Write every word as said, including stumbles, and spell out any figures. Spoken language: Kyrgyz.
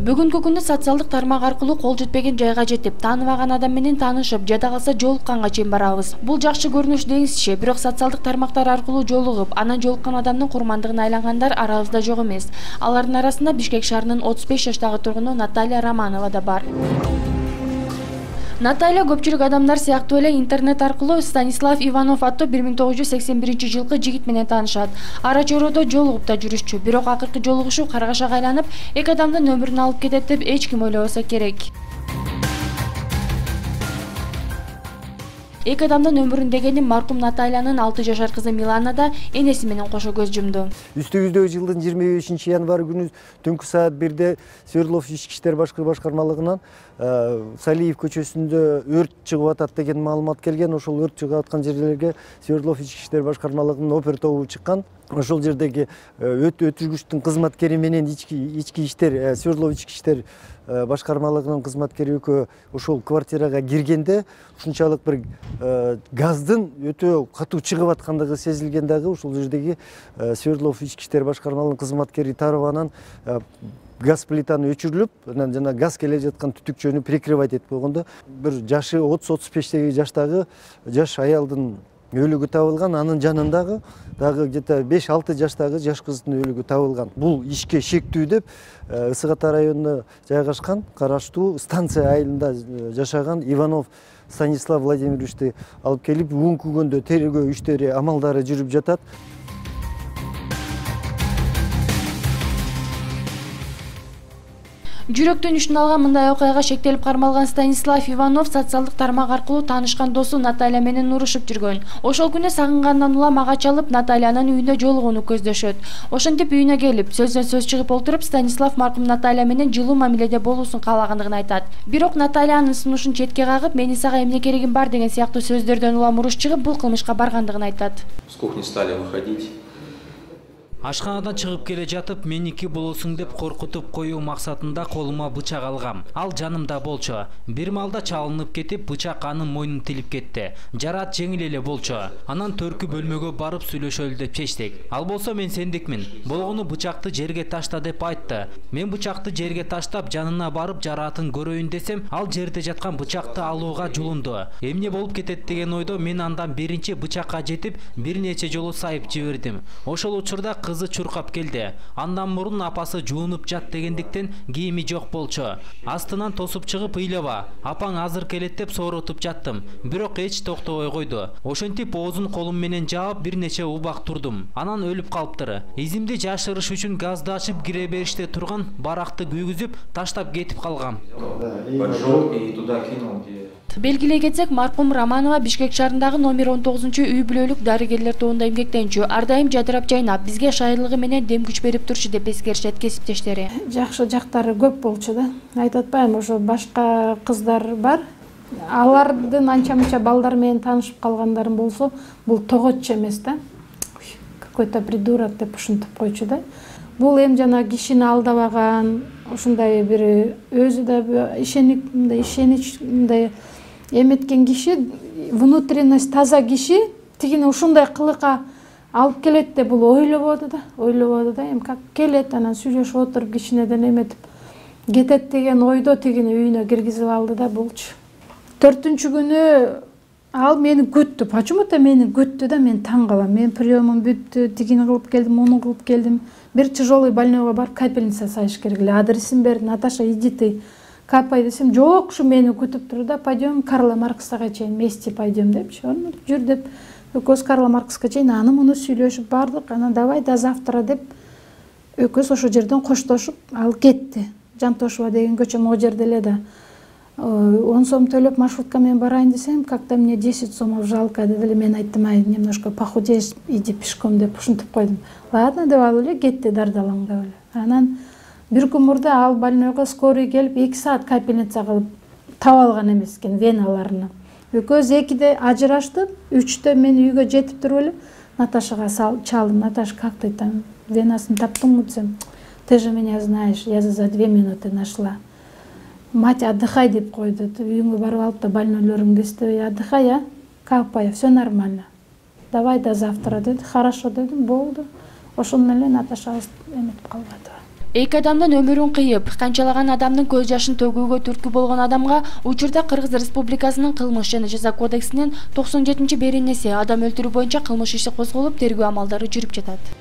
Бүгүнкү күндө социалдык тармак аркылуу кол жетпеген жайга жетип, тааныбаган адам менен таанышып, жада калса жолукканга чейин барабыз. Бул жакшы көрүнүш деңизчи, бирок социалдык тармактар аркылуу жолугуп, анан жолуккан адамдын курмандыгына айлангандар арабызда жок эмес. Алардын арасында Бишкек шаарынын отуз беш жаштагы тургуну Наталья Романова да бар. Наталья көпчүлүк адамдар сыяктуу эле интернет аркылуу Станислав Иванов аттуу бир миң тогуз жүз сексен биринчи жылкы жигит менен таанышат. Ара чородо жолугуп да жүрүшчү, бирок акыркы жолугушуу каргашага айланып, эки адамдын өмүрүн алып кетет деп эч ким ойлобосо керек. Эки адамдын өмүрүн дегени маркум Натальянын алты жашар кызы Милана да энеси менен кошо көз жумду. Үстүбүздөгү жылдын жыйырма бешинчи январь күнү түнкү саат бирде Свердлов ички иштер башкармалыгынан Салиев көчөсүндө өрт чыгып атат деген маалымат келген. Ошол өрт чыгып аткан жерлерге Свердлов ички иштер башкармалыгынын опер тобу чыккан. Ошол жердеги өт өтүргүчтүн кызматкери менен ички ички иштер Свердлов ички иштер башкармалыгынын кызматкери экөө ошол квартирага киргенде ушунчалык бир газдын өтө катуу чыгып аткандыгы сезилген дагы ошол жердеги Свердлов ички иштер башкармалыгынын кызматкери тарабынан газ плитаны өчүрүлүп, анан жана газ келе жаткан түтүкчөнү прикрывать этип койгондо бир жашы отуз отуз бештеги жаштагы жаш аялдын өлүгү табылган, анын жанындагы дагы где-то беш алты жаштагы жаш кыздын өлүгү табылган. Бул ишке шектүү деп Ысык Ата районуна жайгашкан караштуу станция айылында жашаган Иванов Станислав Владимировичти алып келип, бүгүнкү күндө тергөө иштери амалдары жүрүп жатат. Жүрөктөн үчүн алган мындай окуяга шектелип кармалган Станислав Иванов социалдык тармак аркылуу таанышкан досу Наталья менен урушуп жүргөн. Ошол күнү сагынгандан улам ага чалып, Натальянын үйүндө жолугууну көздөшөт. Ошентип үйүнө келип, сөздөн сөз чыгып олтуруп, Станислав маркум Наталья менен жылуу мамиледе болуусун каалагандыгын айтат. Бирок Наталья анын сунушун четке кагып, менин сага эмне керегим бар деген сыяктуу сөздөрдөн улам уруш чыгып, бул кылмышка баргандыгын айтат. С кухни стали выходить. Ашканадан чыгып келе жатып, меники болосуң деп коркутуп коюу максатында колума бычак алгам. Ал жанымда болчу. Бир маалда чалынып кетип, бычак анын мойнун тилип кетти. Жараат жеңил эле болчу. Анан төркү бөлмөгө барып сүйлөшөлү деп чечтик. Ал болсо мен сендикмин. Болгону бычакты жерге ташта деп айтты. Мен бычакты жерге таштап, жанына барып жараатын көрөйүн десем, ал жерде жаткан бычакты алууга жулунду. Эмне болуп кетет деген ойдо мен андан биринчи бычакка жетип, бир нече жолу сайып жибердим. Ошол учурда кызы чуркап келди. Андан мурун апасы жуунуп жат дегендиктен кийими жок болчу. Астынан тосуп чыгып ыйлаба, апаң азыр келет деп сооротуп жаттым. Бирок эч токтобой койду. Ошентип оозун колум менен жаап бир нече убак турдум. Анан өлүп калыптыр. Изимди жашырыш үчүн газды ачып кире бериште турган баракты күйгүзүп таштап кетип калгам. Поджег и туда кинул, где... Белгилей кетсек, маркум Романова Бишкек шаарындагы номер он тогузунчу үй бүлөлүк дарыгерлер тобунда эмгектенчү. Ар дайым жадырап жайнап, бизге шайырлыгы менен дем күч берип турчу деп эскеришет кесиптештери. Жакшы жактары көп болчу да. Айтып атпаймынбы, ошо башка кыздар бар. Алардын анча-мынча балдар менен таанышып калгандарым болсо, бул тоготчу эмес да. Какой-то придурок деп ушинтип койчу да. Бул эми жана кишини алдабаган, ушундай бир өзү да ишеник, мындай ишенич, мындай эметкен киши, внутренность таза киши тигини ушундай кылыкка алып келет деп бул ойлободу да, ойлободу да, эми как келет, анан сүйлөшүп отуруп кичинеден эметип кетет деген ойдо тигини үйүнө киргизип алды да булчу. Төртүнчү күнү ал мени күттү. Почему-то мени күттү да, мен таң калам. Мен приемым бүттү, тигини кылып келдим, муну кылып келдим. Бир тяжелый больнойго барып капельница сайыш керек эле. Адресин берди. Наташа, иди ты капай десем, жок, ушу мени күтүп тур да, пойдем Карла Марксага чейин вместе пойдем депчи. Аны жүр деп, экөөбүз Карла Маркска чейин аны муну сүйлөшүп бардык. Анан давай до завтра деп экөөбүз ошол жерден коштошуп ал кетти. Жантошева деген көчө могу жерде эле да. он сом төлөп маршрутка менен барайын десем, как-то мне десять сомов жалко деди. Мен айттым, ай, немножко похудеешь, иди пешком деп ушинтип койдум. Ладно деп алып эле кетти дардалаңдап эле. Анан бир күн мурда ал больнойго скорый келип эки саат капельница кылып таап алган эмес экен веналарына. Экөөбүз экиде ажыраштык, үчтө мен үйгө жетип туруп эле Наташага чалдым. Наташа, как ты там, венасын таптыңбы десем, ты же меня знаешь, я за две минуты нашла. Мать, отдыхай деп койду. Үйүңө барып алып да больнойлоруңду эстебей отдыхай, а? Капай, все нормально. Давай до завтра деди. Хорошо дедим, болду. Ошондон эле Наташа эметип калбады. Эки адамдын өмүрүн кыйып, канчалаган адамдын көз жашын төгүүгө түрткү болгон адамга учурда Кыргыз Республикасынын кылмыш жана жаза кодексинин токсон жетинчи беренеси адам өлтүрүү боюнча кылмыш иши козголуп, тергөө амалдары жүрүп жатат.